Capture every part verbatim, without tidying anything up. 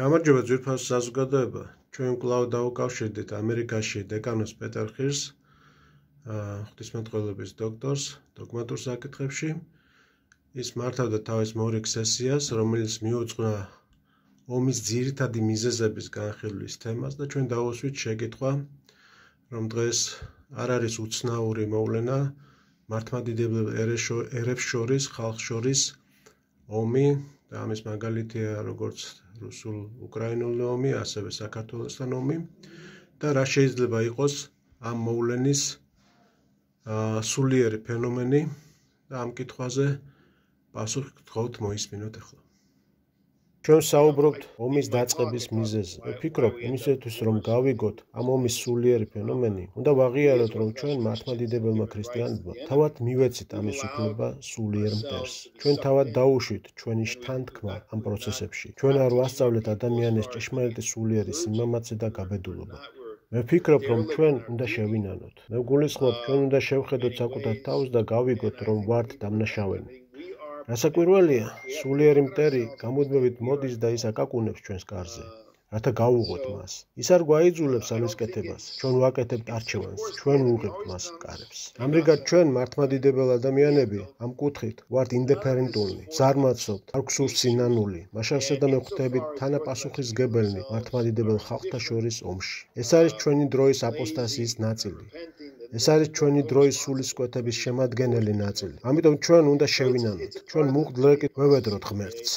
გამარჯობა ძვირფას საზოგადოება. ჩვენ კვლავ დავუკავშირდით ამერიკაში დეკანოს პეტერ ხირს, ღვთისმეტყველების დოქტორს, დოგმატურ საკითხებში. ის მართავდა თავის მორიგ სესიას, რომელიც მიუძღვნა ომის ძირითადი მიზეზების განხილვის თემას და ჩვენ დავუსვით შეკითხვა, რომ დღეს არ არის უცნაური მოვლენა მართლმადიდებელ ერებს შორის, ხალხს შორის ომი და ამის მაგალითია როგორც რუსულ-უკრაინული ომი, ასევე საქართველოსთან ომი და რა შეიძლება იყოს ამ მოვლენის სულიერი ფენომენი და ამ კითხვაზე პასუხი გთხოვთ მოისმინოთ ახლა. ჩვენ საუბრობთ ომის დაწყების მიზეზზე. ვფიქრობ, იმისათვის რომ გავიგოთ ამ ომის სულიერი ფენომენი, უნდა ვაღიაროთ, რომ ჩვენ მართლმადიდებელმა ქრისტიანებმა თავად მივეცით ამის უფლება სულიერ მტერს. ჩვენ თავად დაუშვით ჩვენი შთანთქმა ამ პროცესებში. ჩვენ არ ვასწავლეთ ადამიანის ჭეშმარიტი სულიერი სიმამაცე და გაბედულობა. მე ვფიქრობ, რომ ჩვენ უნდა შევინანოთ. მე ვგულისხმობ, ჩვენ უნდა შევხედოთ საკუთარ თავს და გავიგოთ, რომ ვართ დამნაშავენი. რასაკვირველია, სულიერი მტერი გამუდმებით მოდის და ის აკაკუნებს ჩვენს კარზე, რათა გავუღოთ მას. ის არ გვაიძულებს ამის კეთებას, ჩვენ ვაკეთებთ არჩევანს, ჩვენ ვუღებთ მას კარებს. ამრიგად ჩვენ მართლმადიდებელ ადამიანები ამ კუთხით ვართ ინდიფერენტული, ზარმაცობთ, არ გვსურს სინანული, მაშასე და მე ვხვდებით თანაპასუხისმგებელნი მართლმადიდებელ ხალხთა შორის ომში. ეს არის ჩვენი დროის აპოსტასიის ნაწილი. ეს არის ჩვენი დროის სულისკვეთების შემადგენელი ნაწილი. ამიტომ ჩვენ უნდა შევინანოთ. ჩვენ მუხდლეკით ვევედროთ ღმერთს.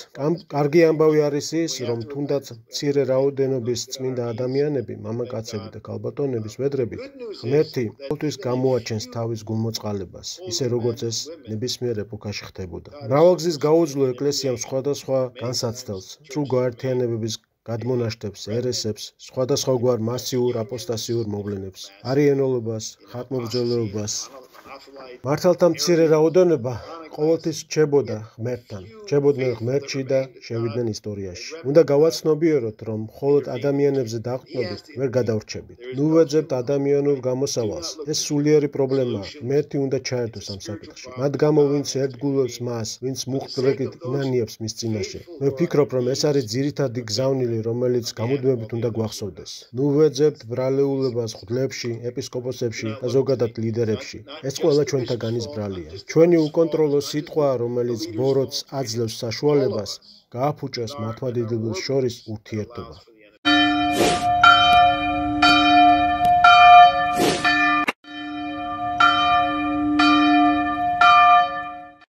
კარგი ამბავი არის ის, რომ თუნდაც მცირე რაოდენობის წმინდა ადამიანები, მამაკაცები და ქალბატონების ვედრებით, ღმერთი ყოველთვის გამოაჩენს თავის გულმოწყალებას, ისე როგორც ეს ნებისმიერ ეპოქაში ხდებოდა. მრავალგზის გაუძლო ეკლესიამ სხვადასხვა განსაცდელს, სრულ გაერთიანებების გადმონაშთებს, ერესებს, სხვადასხვაგვარ მასიურ აპოსტასიურ მოვლენებს, არიენულობას, ხატმობრძოლეობას. მართალთა მცირე რაოდენობა ყოველთვის რჩებოდა ღმერთთან, რჩებოდნენ ღმერთში და შევიდნენ ისტორიაში. უნდა გავაცნობიეროთ, რომ მხოლოდ ადამიანებზე დაყრდნობით ვერ გადავრჩებით. ნუ ვეძებთ ადამიანურ გამოსავალს. ეს სულიერი პრობლემაა. ღმერთი უნდა ჩაერთოს ამ საკითხში. მათ გამო, ვინც ერთგულებს მას, ვინც მუხტლეკით ინანიებს მის წინაშე. მე ვფიქრობ, რომ ეს არის ძირითადი გზავნილი, რომელიც გამუდმებით უნდა გვახსოვდეს. ნუ ვეძებთ ბრალეულებას ღვთლებში, ეპისკოპოსებში და ზოგადად ლიდერებში. ეს ყველა ჩვენთაგანის ბრალია. ჩვენი უკონტროლო სიტყვა, რომელიც ბოროტს აძლევს საშუალებას, გააფუჭოს მართლმადიდებელს შორის ურთიერთობა.